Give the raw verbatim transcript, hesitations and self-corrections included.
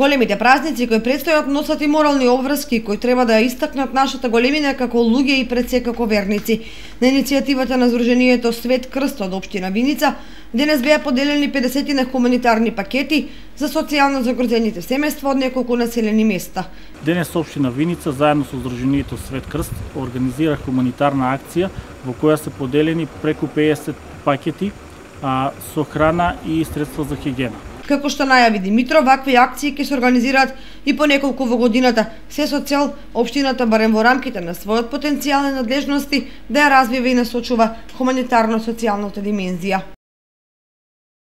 Големите празници кои предстојат носат и морални обврски кои треба да ја истакнат нашата големина како луѓе и пред се како верници. На иницијативата на Сдруженијето Свет Крст од општина Виница денес беа поделени педесет хуманитарни пакети за социјално загрозените семејства од неколку населени места. Денес општина Виница заедно со Сдруженијето Свет Крст организира хуманитарна акција во која се поделени преку педесет пакети а, со храна и средства за хигиена. Како што најави Димитров, вакви акции ќе се организираат и по неколку во годината, се со цел општината барем во рамките на својот потенцијал и надлежности да ја развива и насочува хуманитарно-социјалната димензија.